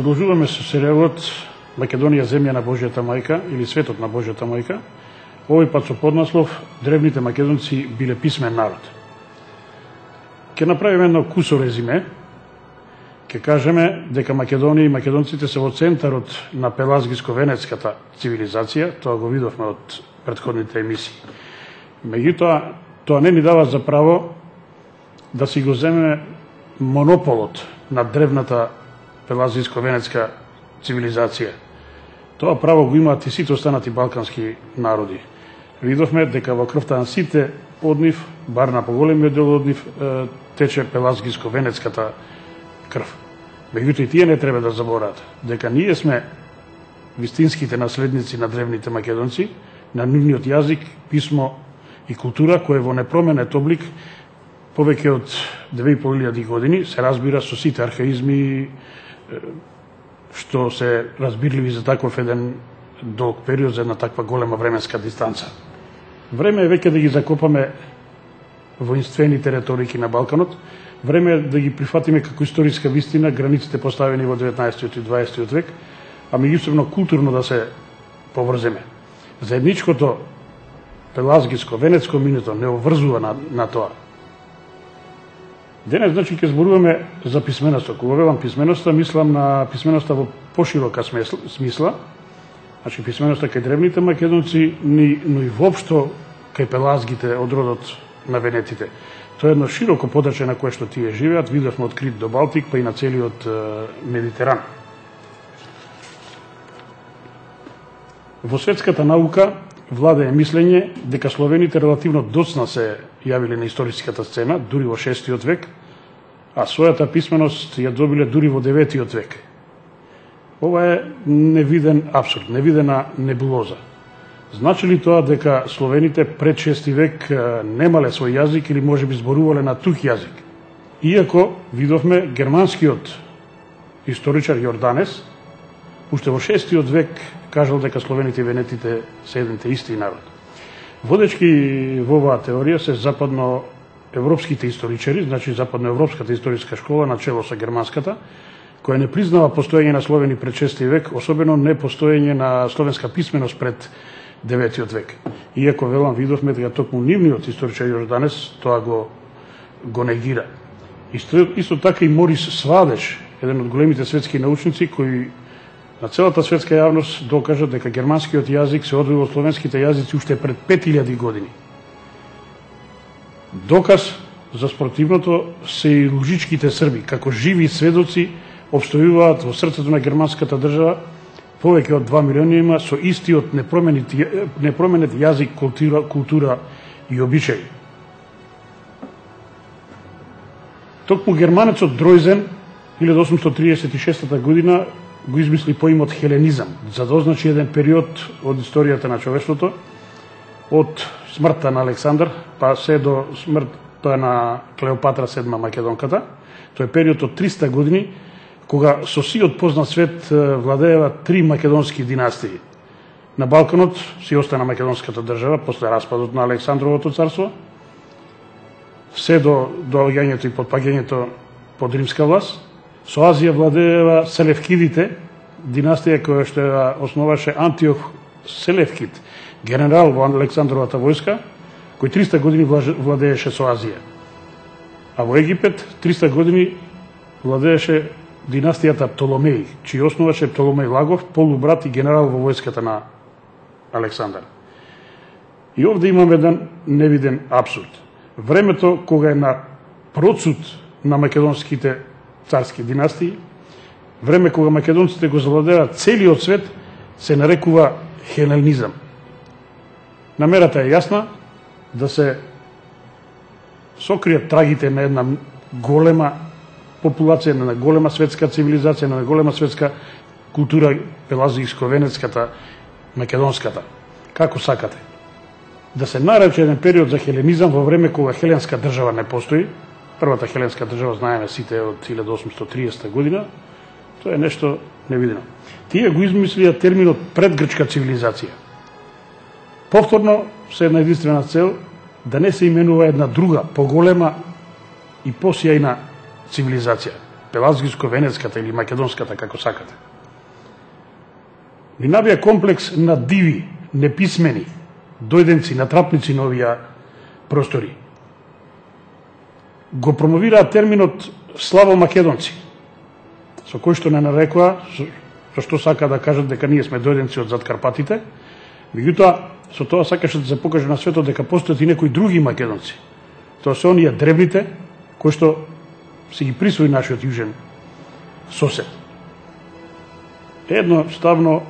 Продолжуваме со серијалот Македонија земја на Божјата мајка или светот на Божјата мајка, овој пат со поднаслов Древните македонци биле писмен народ. Ќе направиме едно кусо резиме, ќе кажеме дека Македонија и македонците се во центарот на пелазгиско-венецката цивилизација, тоа го видовме од претходните емисии. Меѓутоа, тоа не ни дава за право да си го земеме монополот на древната пелазгиско-венецка цивилизација. Тоа право го имаат и сите останати балкански народи. Видовме дека во крвта на сите од нив, бар на поголемиот дел од нив, тече пелазгиско-венецката крв. Меѓутоа и тие не треба да забораат дека ние сме вистинските наследници на древните македонци, на нивниот јазик, писмо и култура која во непроменет облик повеќе од 2500 години се разбира со сите архаизми што се разбирливи за таков еден долг период, за една таква голема временска дистанца. Време е веќе да ги закопаме воинствените реторики на Балканот, време е да ги прифатиме како историска вистина границите поставени во 19 и 20 век, а меѓусебно културно да се поврземе. Заедничкото пелазгиско-венецко минуто не обврзува на тоа. Денес, значи, ќе зборуваме за писменоста. Кога велам писменоста, мислам на писменоста во поширока смисла, значи писменоста кај древните македонци, но и воопшто кај пелазгите од родот на венетите. Тоа е едно широко подрачје на кое што тие живеат, видовме од Крит до Балтик, па и на целиот Медитеран. Во светската наука владее мислење дека словените релативно доцна се јавиле на историската сцена, дури во 6 век, а својата писменост ја добиле дури во 9 век. Ова е невиден абсурд, невидена небулоза. Значи ли тоа дека словените пред 6 век немале свој јазик или можеби зборувале на тух јазик? Иако видовме германскиот историчар Јорданес уште во 6 век кажал дека словените и венетите се еден те исти народ. Водечки во оваа теорија се западноевропските историчари, значи западноевропската историска школа начело со германската, која не признава постоење на словени пред 6 век, особено не постоење на словенска писменост пред 9 век. Иако велам видовме дека токму нивниот историчар Јорданес тоа го негира. Исто така и Морис Свадеш, еден од големите светски научници кој на целата светска јавност докажа дека германскиот јазик се одвои од словенските јазици уште пред 5000 години. Доказ за спротивното се и лужичките срби, како живи сведоци обстојуваат во срцето на германската држава повеќе од 2 милиони со истиот непроменет јазик, култура и обичаи. Токму германецот Дројзен 1836 година го измисли поимот хеленизам, за да означи еден период од историјата на човештвото, од смртта на Александар, па се до смртта на Клеопатра VII Македонката. Тој е период од 300 години, кога со сиот познат свет владеева 3 македонски династии. На Балканот си остана македонската држава после распадот на Александровото царство, се до доаѓањето и потпаѓањето под римска власт. Со Азија владеева Селевкидите, династија која што ја основаше Антиох Селевкид, генерал во Александровата војска, кој 300 години владееше со Азија. А во Египет 300 години владееше династијата Птоломеи, чиј основаше Птоломеј Лагов, полубрат и генерал во војската на Александар. И овде имаме еден невиден абсурд. Времето кога е на процут на македонските царски династии, време кога македонците го завладеат целиот свет, се нарекува хеленизам. Намерата е јасна да се сокријат трагите на една голема популација, на голема светска цивилизација, на голема светска култура, пелазгиско-венецката, македонската. Како сакате. Да се нарече еден период за хеленизам во време кога хеленска држава не постои. Првата хеленска држава знаеме сите од 1830 година, тоа е нешто невидено. Тие го измислија терминот предгрчка цивилизација. Повторно се една единствена цел да не се именува една друга, поголема и посјајна цивилизација. пелазгиско-венецката или македонската, како сакате. Ни навија комплекс на диви, неписмени, дојденци, натрапници на овие простори. Го промовираат терминот славо македонци, со кој што не нарекува, со што сака да кажат дека ние сме дојденци од зад Карпатите, меѓутоа со тоа сакаше да се покаже на светот дека постојат и некои други македонци. Тоа се оние древните кои што си ги присвои нашиот јужен сосед. Едноставно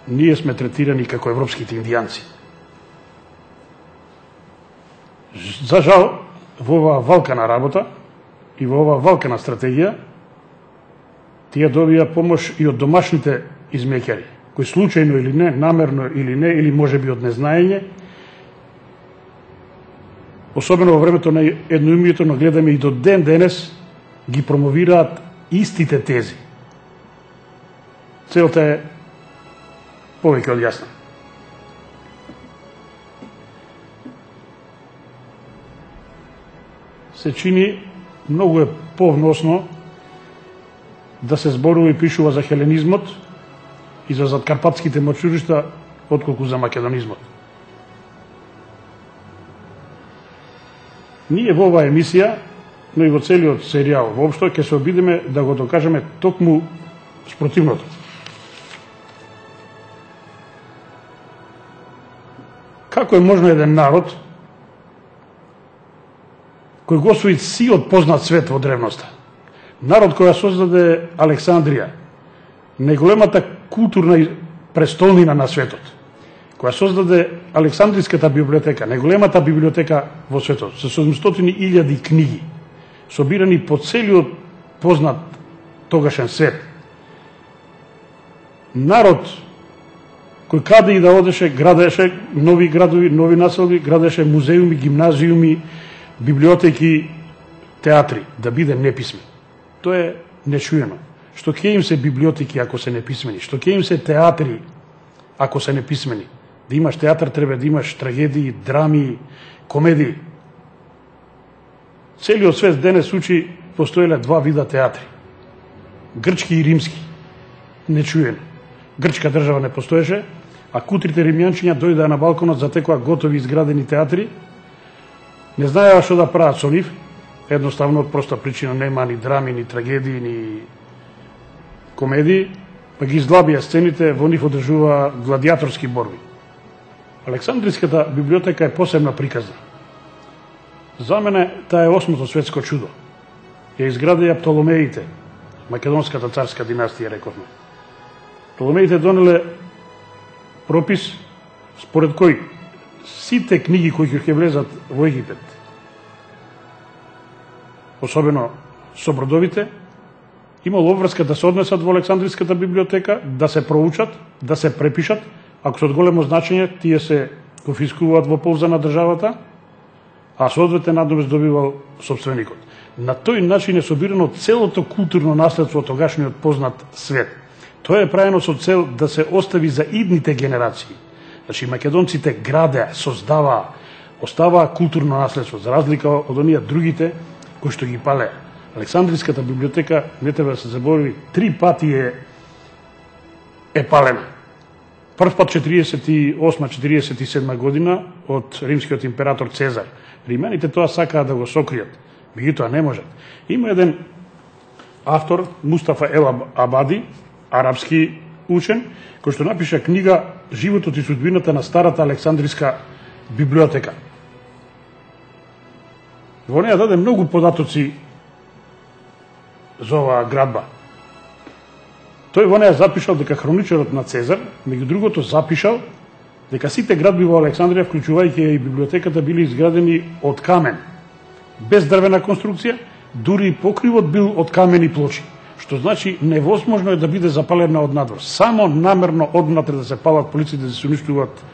ние сме третирани како европските индијанци. За жал, во оваа валкана работа и во оваа валкана стратегија, тие добија помош и од домашните измеќари, кои случајно или не, намерно или не, или може би од незнаење, особено во времето на едноумието, но гледаме и до ден денес, ги промовираат истите тези. Целта е повеќе од јасна. Се чини многу е повносно да се зборува и пишува за хеленизмот и за задкарпатските мочуришта, отколку за македонизмот. Ние во оваа емисија, но и во целиот серијал воопшто, ќе се обидеме да го докажеме токму спротивното. Како е можно еден народ кој го освои сиот познат свет во древноста, народ кој ја создаде Александрија, најголемата културна престолнина на светот, која создаде Александриската библиотека, најголемата библиотека во светот, со 700.000 книги, собирани по целиот познат тогашен свет. Народ кој каде и да одеше, градеше нови градови, нови населби, градеше музеуми, гимназиуми, библиотеки, театри, да биде неписмен. Тоа е нечуено. Што ќе им се библиотеки ако се неписмени? Што ќе им се театри ако се неписмени? Да имаш театар треба да имаш трагедии, драми, комедии. Целиот свет денес учи постоеле два вида театри. Грчки и римски. Нечуено. Грчка држава не постоеше, а кутрите римјанчиња дојдаа на балконот, затекоа готови изградени театри. Не знаеа што да прават со нив, едноставно од проста причина нема ни драми, ни трагедии, ни комедии, па ги издлабија сцените, во нив одржува гладиаторски борби. Александриската библиотека е посебна приказна. За мене таа е осмото светско чудо. Ја изградија Птоломеите, македонската царска династија, рековме. Птоломеите донеле пропис според кој сите книги кои ќе влезат во Египет, особено собродовите, имало обврска да се однесат во Александриската библиотека, да се проучат, да се препишат, ако се од големо значење, тие се конфискуваат во полза на државата, а соодветен надомест добивал собственикот. На тој начин е собирано целото културно наследство од тогашниот познат свет. Тоа е правено со цел да се остави за идните генерации. Значи, македонците градеа, создаваа, оставаа културно наследство, за разлика од оние другите кои што ги палеа. Александриската библиотека, не треба да се заборави, 3 пати е палена. Прв пат 48-47 година од римскиот император Цезар. Римјаните тоа сакаа да го сокријат, меѓутоа не можат. Има еден автор, Мустафа Ел Абади, арапски учен, кој што напиша книга Животот и судбината на старата Александриска библиотека. Во неја даде многу податоци за оваа градба. Тој во неја запишал дека хроничарот на Цезар, меѓу другото запишал дека сите градби во Александрија, вклучувајќи и библиотеката, били изградени од камен, без дрвена конструкција, дури и покривот бил од камени плочи, што значи невозможно е да биде запалена од надвор. Само намерно однатре да се палат полиците, да се уништуваат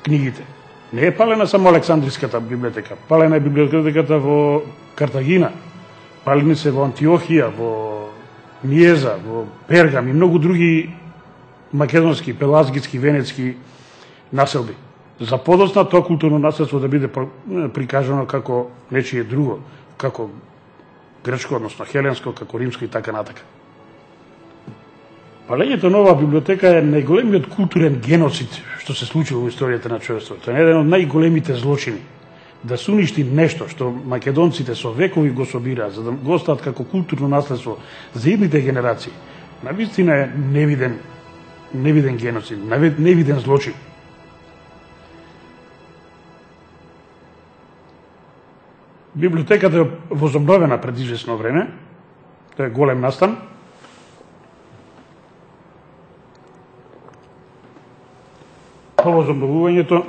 книгите. Не е палена само Александриската библиотека, палена е библиотеката во Картагина, палени се во Антиохија, во Ниеза, во Пергам и многу други македонски, пелазгитски, венецки населби. За подоцна тоа културно наследство да биде прикажано како нечие друго, како грчко, односно хеленско, како римско и така натака. Палењето на оваа библиотека е најголемиот културен геноцид што се случило во историјата на човештвото. Е еден од најголемите злочини. Да се уништи нешто што македонците со векови го собираат, за да го остават како културно наследство за идните генерации, навистина е невиден геноцид, невиден злочин. Библиотеката е возобновена пред известно време. Тоа е голем настан. По возобновувањето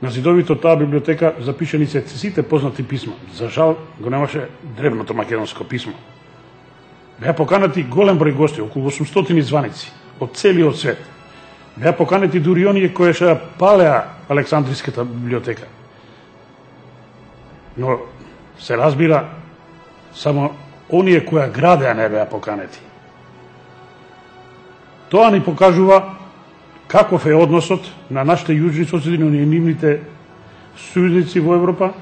на зидовите од таа библиотека запишани се сите познати писма. За жал го немаше древното македонско писмо. Беа поканати голем број гости, околу 800 званици од целиот свет. Беа поканати дури оние кои што палеа Александриската библиотека. Но се разбира, само оние кои градеа не беа поканети. Тоа ни покажува каков е односот на нашите јужни соседи, но и нивните сојузници во Европа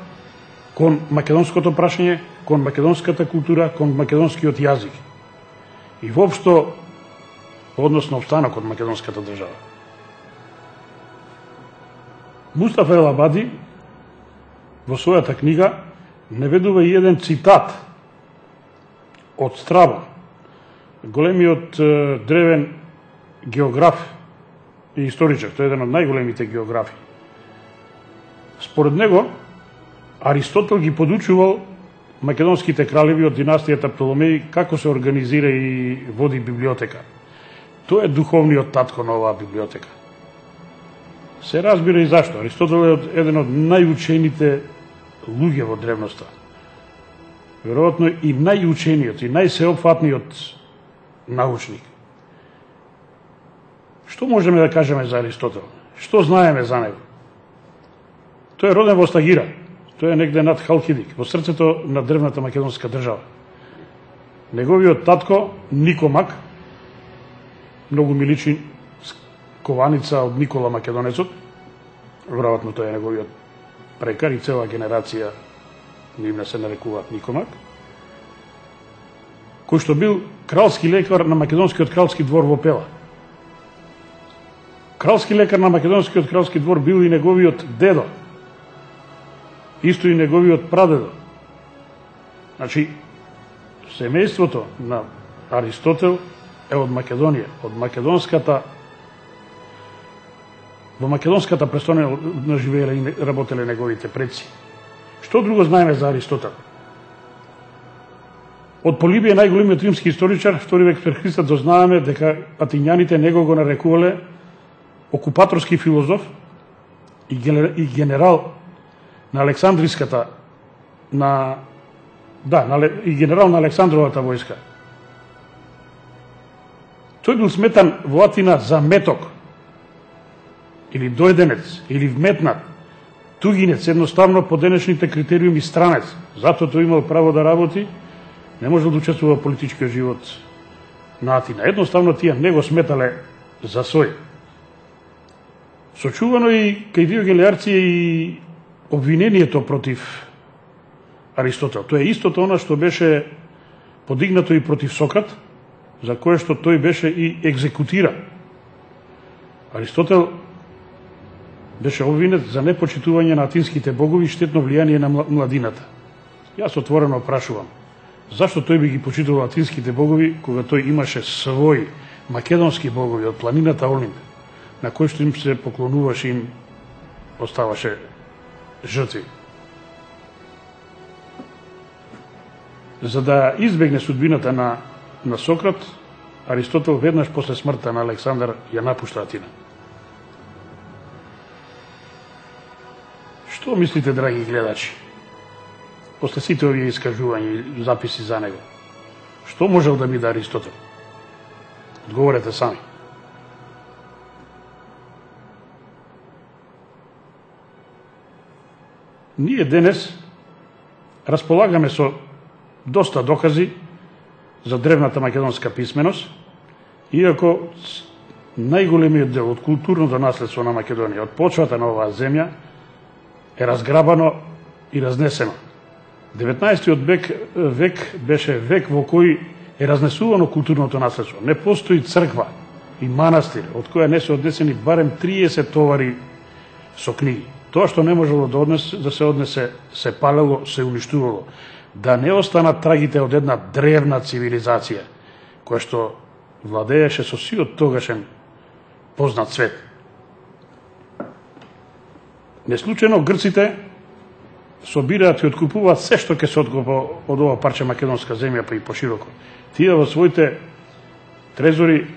кон македонското прашање, кон македонската култура, кон македонскиот јазик. И воопшто однос на обстанок од македонската држава. Мустафа Ел Абади во својата книга наведува и еден цитат од Страбон, големиот древен географ и историчар, тој е еден од најголемите географи. Според него, Аристотел ги подучувал македонските кралеви од династијата Птоломеи како се организира и води библиотека. Тој е духовниот татко на оваа библиотека. Се разбира и зашто. Аристотел е еден од најучените луѓе во древноста. Веројатно и најучениот и најсеопфатниот научник. Што можеме да кажеме за Аристотел? Што знаеме за него? Тој е роден во Стагира. Тој е негде над Халкидик, во срцето на древната македонска држава. Неговиот татко, Никомак, многу ми личи кованица од Никола Македонецот, веројатно тој е неговиот прекар и цела генерација нивна се нарекуваат Никомак, кој што бил кралски лекар на македонскиот кралски двор во Пела. Кралски лекар на македонскиот кралски двор бил и неговиот дедо, исто и неговиот прадедо. Значи, семејството на Аристотел е од Македонија, од македонската, во македонската престонина живееле и работеле неговите предци. Што друго знаеме за Аристотел? Од Полибија, најголемиот римски историчар, втори век пред Христа, дознаеме дека атињаните него го нарекувале окупаторски филозоф и генерал на Александриската, и генерал на Александровата војска. Тој бил сметан во Атина за меток, или дојденец, или вметнат, тугинец, едноставно по денешните критериуми странец. Затоа тој имал право да работи, не можел да учествува во политичкиот живот на Атина. Едноставно тие не го сметале за свој. Сочувано и кај Диоген Леарција и обвинението против Аристотел. Тоа е истото она што беше подигнато и против Сократ, за кое што тој беше и екзекутиран. Аристотел беше обвинет за непочитување на атинските богови и штетно влијание на младината. Јас отворено прашувам, зашто тој би ги почитувал атинските богови, кога тој имаше своји македонски богови од планината Олимп, на кој што им се поклонуваше и им оставаше жртви. За да избегне судбината на Сократ, Аристотел веднаш после смртта на Александар ја напушта Атина. Што мислите, драги гледачи, после сите овие искажувања и записи за него? Што можел да биде Аристотел? Одговорете сами. Ние денес располагаме со доста докази за древната македонска писменост, иако најголемиот дел од културното наследство на Македонија, од почвата на оваа земја, е разграбано и разнесено. 19. век беше век во кој е разнесувано културното наследство. Не постои црква и манастир од која не се однесени барем 30 товари со книги. Тоа што не можело да се однесе, се палело, се уништувало. Да не останат трагите од една древна цивилизација, која што владееше со сиот тогашен познат свет. Неслучено грците собираат и откупуваат се што ќе се откупа од ова парче македонска земја, па и пошироко. Тие во своите трезори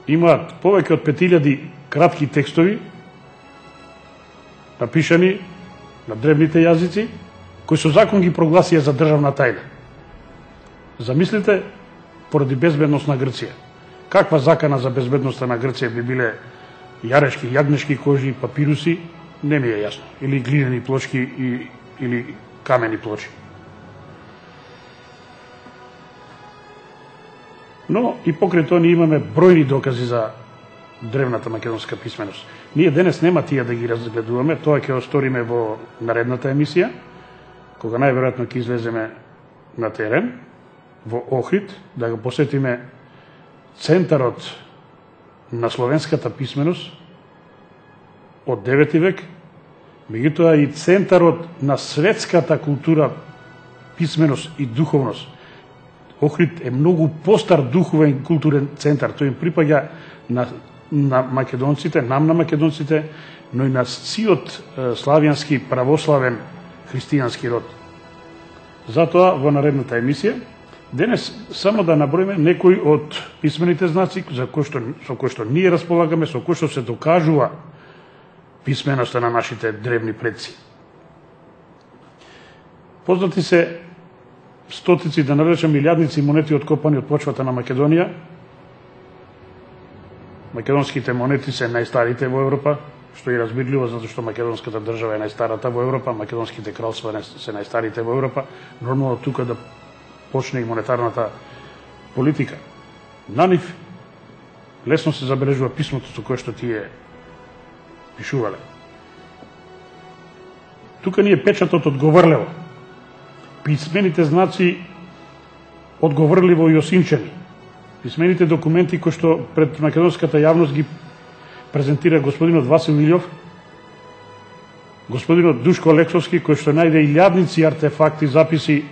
имаат повеќе од 5000 кратки текстови, напишани на древните јазици, кои со закон ги прогласија за државна тајна. Замислите, поради безбедност на Грција. Каква закана за безбедноста на Грција би биле јарешки, јагнешки кожи, папируси, не ми е јасно. Или глинени плочки или камени плочи. Но и покрај тоа ние имаме бројни докази за древната македонска писменост. Ние денес нема тие да ги разгледуваме, тоа ќе осториме во наредната емисија, кога најверојатно ќе излеземе на терен, во Охрид, да го посетиме центарот на словенската писменост од 9 век, меѓутоа и центарот на светската култура, писменост и духовност. Охрид е многу постар духовен културен центар. Тој им припаѓа на македонците, нам на македонците, но и на сиот славјански, православен, христијански род. Затоа во наредната емисија денес само да наброиме некои од писмените знаци со кои што ние располагаме, со кои што се докажува писменоста на нашите древни предци. Познати се стотици, да наречам илјадници монети откопани од почвата на Македонија. Македонските монети се најстарите во Европа, што е разбирливо, затоа што македонската држава е најстарата во Европа, македонските кралства се најстарите во Европа. Нормално тука да почне и монетарната политика. На нив лесно се забележува писмото со кое што тие пишувале. Тука ни е печатот од Говорлево. Писмените знаци од Говорливо и Осинчани. Писмените документи кои што пред македонската јавност ги презентира господинот Васил Илјов, господинот Душко Алексовски, кој што најде илјадници артефакти, записи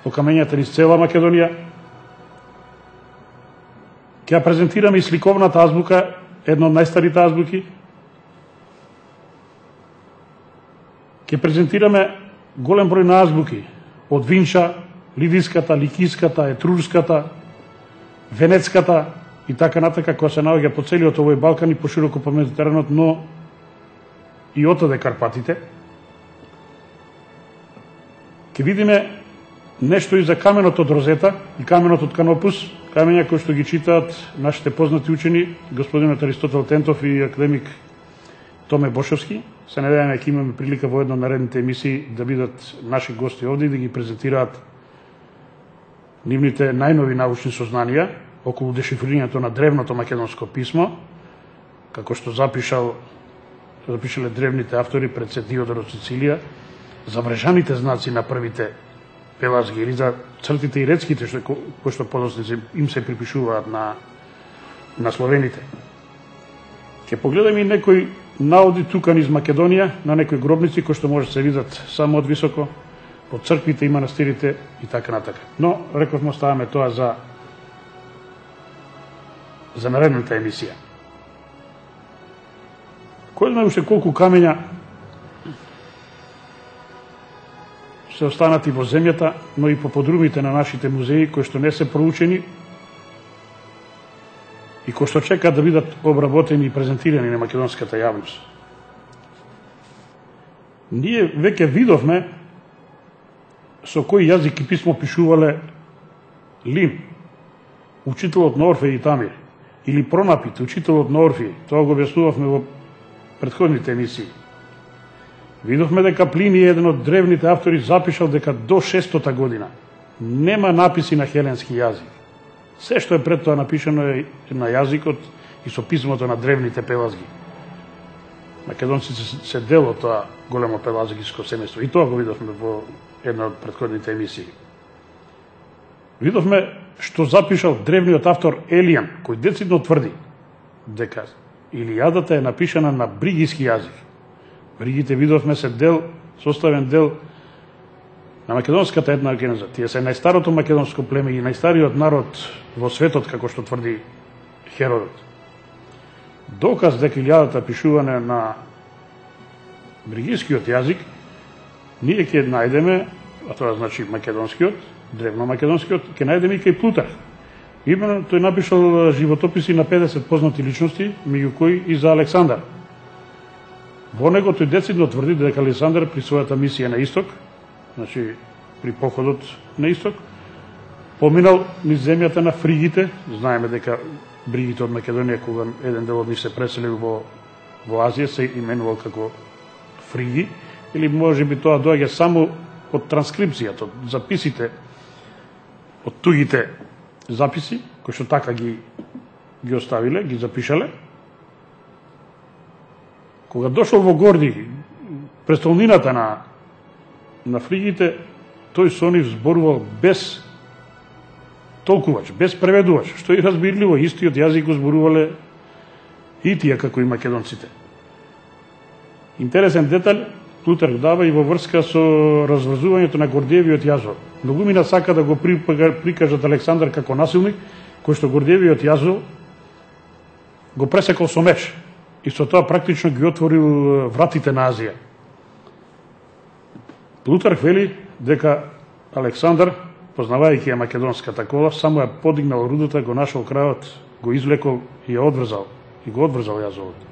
по камењата низ цела Македонија. Ќе ја презентираме и сликовната азбука, една од најстарите азбуки. Ќе презентираме голем број на азбуки, од Винча, Лидиската, Ликиската, Етрурската, Венецката и така натака, која се наоѓа по целиот овој Балкан и пошироко по Медитеранот, но и отаде Карпатите. Ќе видиме нешто и за каменот од Розета и каменот од Канопус, камења кои што ги читаат нашите познати учени, господинот Аристотел Тентов и академик Томе Бошовски. Се надеваме ќе имаме прилика во една од наредните емисии да бидат наши гости овде и да ги презентираат нивните најнови научни сознанија околу дешифрирањето на древното македонско писмо, како што запишале древните автори пред се Диодор од Сицилија, за мрежаните знаци на првите пелазги или за цртите и рецките кои што подоцници им се припишуваат на словените. Ќе погледаме и некои наоди тука низ Македонија, на некои гробници кои што може да се видат само од високо, по црквите и манастирите и така натака. Но, рековме, оставаме тоа за наредната емисија. Кој знае уште колку камења се останати во земјата, но и по подрумите на нашите музеи, кои што не се проучени и кои што чекаат да бидат обработени и презентирани на македонската јавност. Ние веќе видовме со кој јазик и писмо пишувале Лин, учителот на Орфеј и Тамир, или Пронапит, учителот на Орфеј. Тоа го објаснувавме во претходните емисии. Видовме дека Плиний, еден од древните автори, запишал дека до 600 година нема написи на хеленски јазик. Се што е пред тоа напишано е на јазикот и со писмото на древните пелазги. македонците се дел од тоа големо пелазгиско семејство. И тоа го видовме во една од претходните емисии. Видовме што запишал древниот автор Елијан, кој децидно тврди дека Илијадата е напишана на бригиски јазик. Бригите, видовме, се дел, составен дел на македонската една генеза. Тие се најстарото македонско племе и најстариот народ во светот, како што тврди Херодот. Доказ дека Илијадата пишуване на бригискиот јазик, ние ќе најдеме, а тоа значи македонскиот, древномакедонскиот, ќе најдеме и кај Плутарх. Именно тој напишал животописи на 50 познати личности, меѓу кои и за Александар. Во него тој децидно тврди дека Александар при својата мисија на исток, значи при походот на исток, поминал низ земјата на фригите. Знаеме дека бригите од Македонија, кога еден дел од нив се преселил во Азија, се именувал како фриги, или може би тоа доаѓа само од транскрипцијата, од записите, од тугите записи, кои што така ги оставиле, ги запишале. Кога дошол во Горди, престолнината на фригите, тој со нив зборувал без толкувач, без преведувач, што и разбирливо, истиот јазик го зборувале и тие како и македонците. Интересен детај Плутарх дава и во врска со разврзувањето на Гордиевиот јазол. Многумина сака да го прикажат Александар како насилник, кој што Гордиевиот јазол го пресекол со меч и со тоа практично ги отворил вратите на Азија. Плутарх вели дека Александар, познавајќи ја македонската кола, само ја подигнал рудата, го нашол крајот, го извлекол и ја одврзал, и го одврзал јазолот.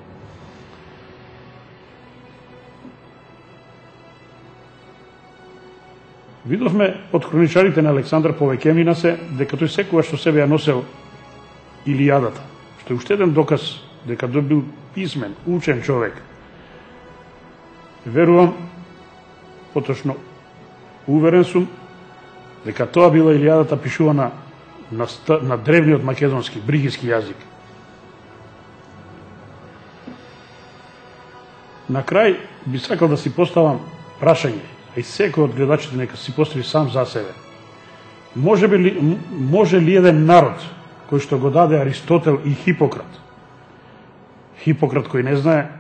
Видовме од хроничарите на Александар повеќемина се дека тој секогаш што себе ја носел Илијадата, што е уште еден доказ дека тој бил писмен, учен човек. Верувам, поточно уверен сум, дека тоа била Илијадата пишувана на древниот македонски, бригиски јазик. На крај би сакал да си поставам прашање, и секој од гледачите нека си постави сам за себе. Може ли еден народ кој што го даде Аристотел и Хипократ, кој не знае,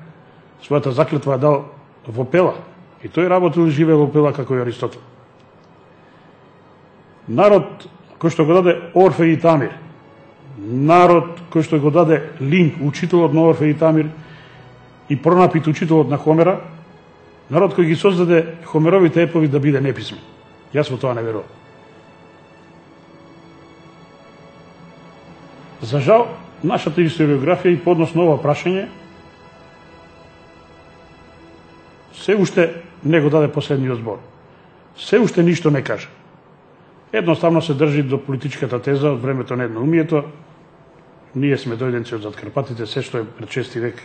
својата заклетва дал во Пела, и тој работил и живее во Пела како и Аристотел. Народ кој што го даде Орфе и Тамир, народ кој што го даде Линк, учителот на Орфе и Тамир, и Пронапит, учителот на Хомера, народ кој ги создаде Хомеровите епови да биде неписмен. Јас во тоа не верувам. За жал, нашата историографија и подносно ова прашање се уште не го даде последниот збор. Се уште ништо не каже. Едноставно се држи до политичката теза од времето на едноумието. Ние сме дојденци од зад Карпатите, се што е пред 6 век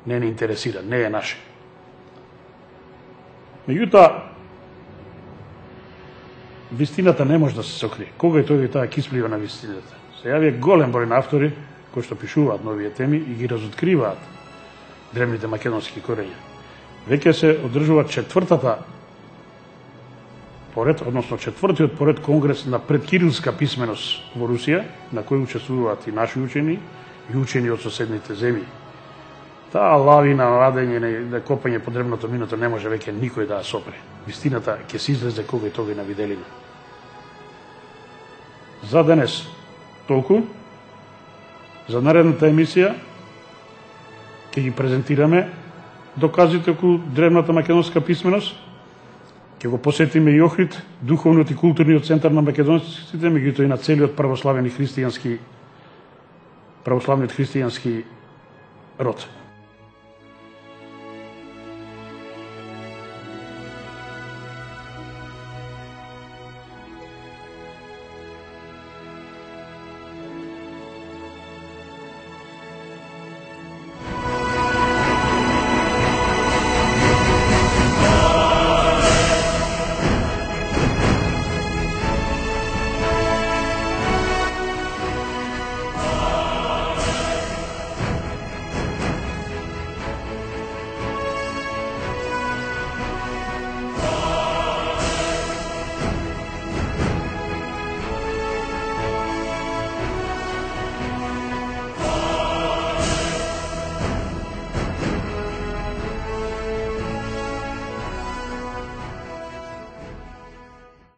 не интересира, не е наше. Меѓутоа, вистината не може да се сокрие. Кога и тој таа кисплива на вистината? Се јавија голем број на автори кои што пишуваат новите теми и ги разоткриваат древните македонски корења. Веќе се одржува четвртиот поред конгрес на предкирилска писменост во Русија, на кој учествуваат и наши учени и учени од соседните земји. Таа лавина, радење, да копање по древното миното не може веќе никој да ја сопре. Вистината ќе се излезе кога и тога на виделина. За денес толку. За наредната емисија ќе ги презентираме доказите околу древната македонска писменост. Ќе го посетиме и Охрид, духовниот и културниот центар на македонците, меѓутоа и на целиот православниот христијански род.